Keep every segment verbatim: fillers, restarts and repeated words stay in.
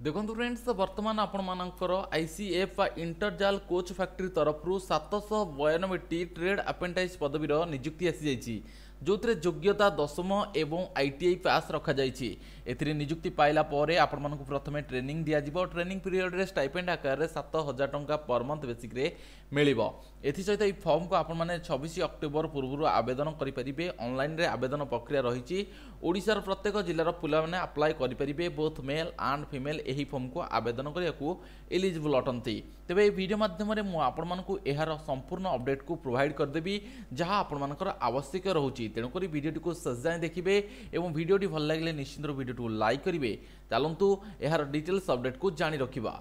ଦେଖନ୍ତୁ ଫ୍ରେଣ୍ଡସ୍, ବର୍ତ୍ତମାନ ଆପଣମାନଙ୍କର I C F ବା ଇଣ୍ଟରଜାଲ କୋଚ୍ ଫ୍ୟାକ୍ଟ୍ରି ତରଫରୁ ସାତଶହ ବୟାନବେଟି ଟ୍ରେଡ୍ ଆପ୍ରେଣ୍ଟାଇସ୍ ପଦବୀର ନିଯୁକ୍ତି ଆସିଯାଇଛି, ଯେଉଁଥିରେ ଯୋଗ୍ୟତା ଦଶମ ଏବଂ I T I pass ରଖାଯାଇଛି। ଏଥିରେ ନିଯୁକ୍ତି ପାଇଲା ପରେ ଆପଣମାନଙ୍କୁ ପ୍ରଥମେ ଟ୍ରେନିଂ ଦିଆଯିବ। ଟ୍ରେନିଂ ପିରିୟଡ଼ରେ ଷ୍ଟାଇପେଣ୍ଡ ଆକାରରେ ସାତ ହଜାର ଟଙ୍କା ପର ମନ୍ଥ ବେସିକ୍ରେ ମିଳିବ। ଏଥିସହିତ ଏହି ଫର୍ମକୁ ଆପଣମାନେ ଛବିଶ ଅକ୍ଟୋବର ପୂର୍ବରୁ ଆବେଦନ କରିପାରିବେ। ଅନଲାଇନରେ ଆବେଦନ ପ୍ରକ୍ରିୟା ରହିଛି। ଓଡ଼ିଶାର ପ୍ରତ୍ୟେକ ଜିଲ୍ଲାର ପିଲାମାନେ ଆପ୍ଲାଏ କରିପାରିବେ। ବୋଥ୍ ମେଲ୍ ଆଣ୍ଡ ଫିମେଲ୍ ଏହି ଫର୍ମକୁ ଆବେଦନ କରିବାକୁ ଏଲିଜିବଲ୍ ଅଟନ୍ତି। ତେବେ ଏହି ଭିଡ଼ିଓ ମାଧ୍ୟମରେ ମୁଁ ଆପଣମାନଙ୍କୁ ଏହାର ସମ୍ପୂର୍ଣ୍ଣ ଅପଡେଟ୍କୁ ପ୍ରୋଭାଇଡ଼ କରିଦେବି, ଯାହା ଆପଣମାନଙ୍କର ଆବଶ୍ୟକ ରହୁଛି। ତେଣୁକରି ଭିଡ଼ିଓଟିକୁ ଶେଷ ଯାଏଁ ଦେଖିବେ ଏବଂ ଭିଡ଼ିଓଟି ଭଲ ଲାଗିଲେ ନିଶ୍ଚିନ୍ତ ଭିଡ଼ିଓଟିକୁ ଲାଇକ୍ କରିବେ। ଚାଲନ୍ତୁ, ଏହାର ଡିଟେଲ୍ସ ଅପଡେଟ୍କୁ ଜାଣି ରଖିବା।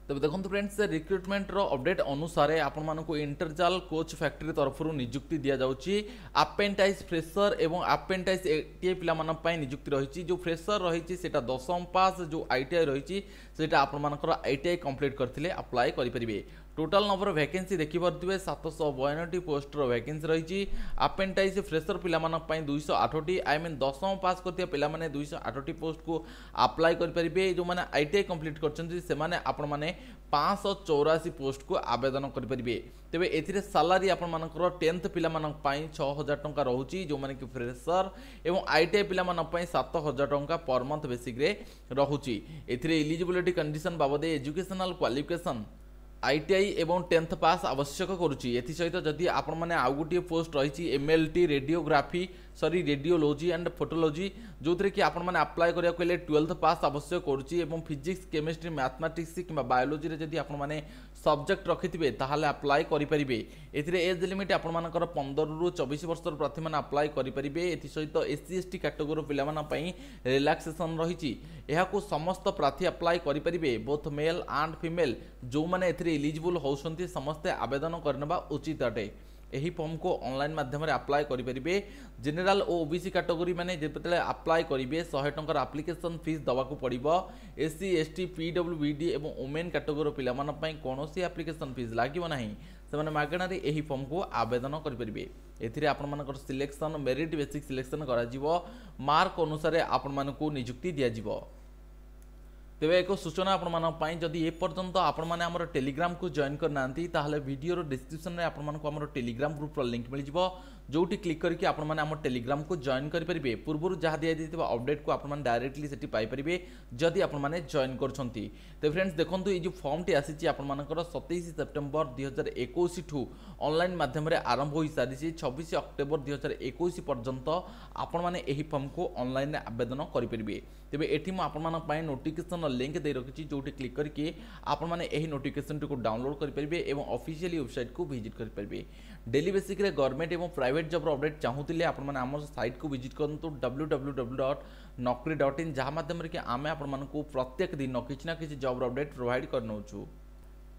ତେବେ ଦେଖନ୍ତୁ ଫ୍ରେଣ୍ଡସ୍, ରିକ୍ରୁଟମେଣ୍ଟର ଅପଡେଟ୍ ଅନୁସାରେ ଆପଣମାନଙ୍କୁ ଇଣ୍ଟରଜାଲ କୋଚ୍ ଫ୍ୟାକ୍ଟ୍ରି ତରଫରୁ ନିଯୁକ୍ତି ଦିଆଯାଉଛି। ଆପେଣ୍ଟାଇସ୍ ଫ୍ରେସର ଏବଂ ଆପେଣ୍ଟାଇସ୍ ଏଟିଆଇ ପିଲାମାନଙ୍କ ପାଇଁ ନିଯୁକ୍ତି ରହିଛି। ଯେଉଁ ଫ୍ରେସର ରହିଛି, ସେଇଟା ଦଶମ ପାସ୍, ଯେଉଁ I T I ରହିଛି, ସେଇଟା ଆପଣମାନଙ୍କର I T I complete କରିଥିଲେ ଆପ୍ଲାଏ କରିପାରିବେ। ଟୋଟାଲ ନମ୍ବର ଭ୍ୟାକେନ୍ସି ଦେଖିପାରୁଥିବେ, ସାତଶହ ବୟାନବେଟି ପୋଷ୍ଟର ଭ୍ୟାକେନ୍ସି ରହିଛି। ଆପେଣ୍ଟାଇସ୍ ଫ୍ରେସର ପିଲାମାନଙ୍କ ପାଇଁ ଦୁଇଶହ ଆଠଟି, I mean ଦଶମ ପାସ୍ କରିଥିବା ପିଲାମାନେ ଦୁଇଶହ ଆଠଟି ପୋଷ୍ଟକୁ ଆପ୍ଲାଏ କରିପାରିବେ। ଯେଉଁମାନେ I T I complete କରିଛନ୍ତି, ସେମାନେ ଆପଣମାନେ ପାଞ୍ଚଶହ ଚଉରାଅଶୀ ପୋଷ୍ଟକୁ ଆବେଦନ କରିପାରିବେ। ତେବେ ଏଥିରେ ସାଲାରୀ ଆପଣମାନଙ୍କର ଟେନ୍ଥ ପିଲାମାନଙ୍କ ପାଇଁ ଛଅ ହଜାର ଟଙ୍କା ରହୁଛି, ଯେଉଁମାନେ କି ଫ୍ରେସର, ଏବଂ I T I ପିଲାମାନଙ୍କ ପାଇଁ ସାତ ହଜାର ଟଙ୍କା ପର ମନ୍ଥ ବେସିକ୍ରେ ରହୁଛି। ଏଥିରେ ଇଲିଜିବିଲିଟି କଣ୍ଡିସନ୍ ବାବଦେ educational qualification I T I ଏବଂ ଟେନ୍ଥ ପାସ୍ ଆବଶ୍ୟକ କରୁଛି। ଏଥିସହିତ ଯଦି ଆପଣମାନେ ଆଉ ଗୋଟିଏ ପୋଷ୍ଟ ରହିଛି, M L T radiography, sorry, radiology and ଫଟୋଲୋଜି, ଯେଉଁଥିରେ କି ଆପଣମାନେ ଆପ୍ଲାଏ କରିବାକୁ ହେଲେ ଟୁଏଲ୍ଥ ପାସ୍ ଆବଶ୍ୟକ କରୁଛି ଏବଂ ଫିଜିକ୍ସ, କେମିଷ୍ଟ୍ରି, ମ୍ୟାଥମାଟିକ୍ସ କିମ୍ବା ବାୟୋଲୋଜିରେ ଯଦି ଆପଣମାନେ ସବଜେକ୍ଟ ରଖିଥିବେ, ତାହେଲେ ଆପ୍ଲାଏ କରିପାରିବେ। ଏଥିରେ ଏଜ୍ ଲିମିଟ୍ ଆପଣମାନଙ୍କର ପନ୍ଦରରୁ ଚବିଶ ବର୍ଷର ପ୍ରାର୍ଥୀମାନେ ଆପ୍ଲାଏ କରିପାରିବେ। ଏଥିସହିତ ଏସ୍ ସି, ଏସ୍ ଟି କାଟେଗୋରୀର ପିଲାମାନଙ୍କ ପାଇଁ ରିଲାକ୍ସେସନ୍ ରହିଛି। ଏହାକୁ ସମସ୍ତ ପ୍ରାର୍ଥୀ ଆପ୍ଲାଏ କରିପାରିବେ, ବୋଥ୍ ମେଲ୍ ଆଣ୍ଡ ଫିମେଲ୍। ଯେଉଁମାନେ ଏଥିରେ ଇଲିଜିବୁଲ୍ ହେଉଛନ୍ତି, ସମସ୍ତେ ଆବେଦନ କରିନେବା ଉଚିତ ଅଟେ। ଏହି ଫର୍ମକୁ ଅନଲାଇନ୍ ମାଧ୍ୟମରେ ଆପ୍ଲାଏ କରିପାରିବେ। ଜେନେରାଲ ଓ ଓବିସି କାଟେଗୋରୀ ମାନେ ଯେତେବେଳେ ଆପ୍ଲାଏ କରିବେ, ଶହେ ଟଙ୍କାର ଆପ୍ଲିକେସନ୍ ଫିସ୍ ଦେବାକୁ ପଡ଼ିବ। S C, S T, P W B D ଏବଂ ଓମେନ୍ କାଟେଗୋରୀର ପିଲାମାନଙ୍କ ପାଇଁ କୌଣସି ଆପ୍ଲିକେସନ୍ ଫିସ୍ ଲାଗିବ ନାହିଁ। ସେମାନେ ମାଗଣାରେ ଏହି ଫର୍ମକୁ ଆବେଦନ କରିପାରିବେ। ଏଥିରେ ଆପଣମାନଙ୍କର ସିଲେକ୍ସନ୍ ମେରିଟ୍ ବେସିକ୍ ସିଲେକ୍ସନ୍ କରାଯିବ। ମାର୍କ ଅନୁସାରେ ଆପଣମାନଙ୍କୁ ନିଯୁକ୍ତି ଦିଆଯିବ। ତେବେ ଏକ ସୂଚନା ଆପଣମାନଙ୍କ ପାଇଁ, ଯଦି ଏପର୍ଯ୍ୟନ୍ତ ଆପଣମାନେ ଆମର ଟେଲିଗ୍ରାମକୁ ଜଏନ୍ କରିନାହାନ୍ତି, ତାହେଲେ ଭିଡ଼ିଓର ଡିସ୍କ୍ରିପ୍ସନରେ ଆପଣମାନଙ୍କୁ ଆମର ଟେଲିଗ୍ରାମ ଗ୍ରୁପର ଲିଙ୍କ୍ ମିଳିଯିବ, ଯେଉଁଠି କ୍ଲିକ୍ କରିକି ଆପଣମାନେ ଆମ ଟେଲିଗ୍ରାମକୁ ଜଏନ୍ କରିପାରିବେ। ପୂର୍ବରୁ ଯାହା ଦିଆଯାଇଥିବା ଅପଡେଟ୍କୁ ଆପଣମାନେ ଡାଇରେକ୍ଟଲି ସେଠି ପାଇପାରିବେ, ଯଦି ଆପଣମାନେ ଜଏନ୍ କରୁଛନ୍ତି। ତେବେ ଫ୍ରେଣ୍ଡସ୍ ଦେଖନ୍ତୁ, ଏଇ ଯେଉଁ ଫର୍ମଟି ଆସିଛି ଆପଣମାନଙ୍କର, ସତେଇଶ ସେପ୍ଟେମ୍ବର ଦୁଇ ହଜାର ଏକୋଇଶଠୁ ଅନଲାଇନ୍ ମାଧ୍ୟମରେ ଆରମ୍ଭ ହୋଇସାରିଛି। ଛବିଶ ଅକ୍ଟୋବର ଦୁଇ ହଜାର ଏକୋଇଶ ପର୍ଯ୍ୟନ୍ତ ଆପଣମାନେ ଏହି ଫର୍ମକୁ ଅନଲାଇନରେ ଆବେଦନ କରିପାରିବେ। ତେବେ ଏଠି ମୁଁ ଆପଣମାନଙ୍କ ପାଇଁ ନୋଟିଫିକେସନ୍ର ଲିଙ୍କ୍ ଦେଇ ରଖିଛି, ଯେଉଁଠି କ୍ଲିକ୍ କରିକି ଆପଣମାନେ ଏହି ନୋଟିଫିକେସନ୍ଟିକୁ ଡାଉନଲୋଡ୍ କରିପାରିବେ ଏବଂ ଅଫିସିଆଲି ୱେବସାଇଟ୍କୁ ଭିଜିଟ୍ କରିପାରିବେ। ଡେଲି ବେସିକ୍ରେ ଗଭର୍ଣ୍ଣମେଣ୍ଟ ଏବଂ ପ୍ରାଇଭେଟ୍ ଜବ୍ର ଅପଡେଟ୍ ଚାହୁଁଥିଲେ ଆପଣମାନେ ଆମ ସାଇଟ୍କୁ ଭିଜିଟ୍ କରନ୍ତୁ, W W W dot Naukri dot in, ଯାହା ମାଧ୍ୟମରେ କି ଆମେ ଆପଣମାନଙ୍କୁ ପ୍ରତ୍ୟେକ ଦିନ କିଛି ନା କିଛି ଜବ୍ର ଅପଡେଟ୍ ପ୍ରୋଭାଇଡ଼ କରିନେଉଛୁ।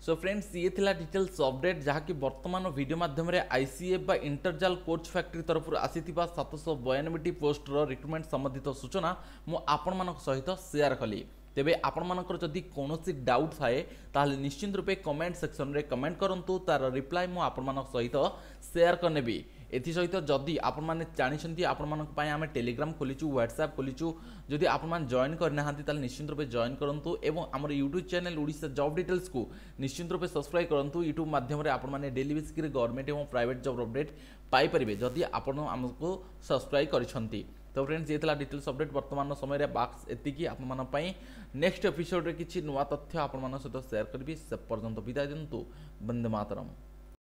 ସୋ ଫ୍ରେଣ୍ଡସ୍, ଇଏ ଥିଲା ଡିଟେଲ୍ସ ଅପଡେଟ୍, ଯାହାକି ବର୍ତ୍ତମାନ ଭିଡ଼ିଓ ମାଧ୍ୟମରେ ଆଇସିଏଫ୍ ବା ଇଣ୍ଟରଜାଲ କୋଚ୍ ଫ୍ୟାକ୍ଟ୍ରି ତରଫରୁ ଆସିଥିବା ସାତଶହ ବୟାନବେଟି ପୋଷ୍ଟର ରିକ୍ରୁଟମେଣ୍ଟ ସମ୍ବନ୍ଧିତ ସୂଚନା ମୁଁ ଆପଣମାନଙ୍କ ସହିତ ସେୟାର କଲି। ତେବେ ଆପଣମାନଙ୍କର ଯଦି କୌଣସି ଡାଉଟ୍ ଥାଏ, ତାହେଲେ ନିଶ୍ଚିନ୍ତ ରୂପେ କମେଣ୍ଟ ସେକ୍ସନରେ କମେଣ୍ଟ କରନ୍ତୁ। ତାର ରିପ୍ଲାଏ ମୁଁ ଆପଣମାନଙ୍କ ସହିତ ସେୟାର କରିନେବି। ଏଥିସହିତ ଯଦି ଆପଣମାନେ ଜାଣିଛନ୍ତି, ଆପଣମାନଙ୍କ ପାଇଁ ଆମେ ଟେଲିଗ୍ରାମ ଖୋଲିଛୁ, ହ୍ୱାଟ୍ସଆପ୍ ଖୋଲିଛୁ। ଯଦି ଆପଣମାନେ ଜଏନ୍ କରିନାହାନ୍ତି, ତାହେଲେ ନିଶ୍ଚିନ୍ତ ରୂପେ ଜଏନ୍ କରନ୍ତୁ ଏବଂ ଆମର ୟୁଟ୍ୟୁବ୍ ଚ୍ୟାନେଲ୍ ଓଡ଼ିଶା ଜବ୍ ଡିଟେଲ୍ସକୁ ନିଶ୍ଚିନ୍ତ ରୂପେ ସବସ୍କ୍ରାଇବ୍ କରନ୍ତୁ। ୟୁଟ୍ୟୁବ୍ ମାଧ୍ୟମରେ ଆପଣମାନେ ଡେଲି ବେସିସ୍ରେ ଗଭର୍ଣ୍ଣମେଣ୍ଟ ଏବଂ ପ୍ରାଇଭେଟ୍ ଜବ୍ ଅପଡେଟ୍ ପାଇପାରିବେ, ଯଦି ଆପଣ ଆମକୁ ସବସ୍କ୍ରାଇବ୍ କରିଛନ୍ତି। ତ ଫ୍ରେଣ୍ଡସ୍, ଇଏ ଥିଲା ଡିଟେଲ୍ସ ଅପଡେଟ୍। ବର୍ତ୍ତମାନ ସମୟରେ ବାସ୍ ଏତିକି ଆପଣମାନଙ୍କ ପାଇଁ। ନେକ୍ସଟ ଏପିସୋଡ଼ରେ କିଛି ନୂଆ ତଥ୍ୟ ଆପଣମାନଙ୍କ ସହିତ ସେୟାର କରିବି। ସେ ପର୍ଯ୍ୟନ୍ତ ବିଦାୟ ଦିଅନ୍ତୁ। ବନ୍ଦେ ମାତରମ୍।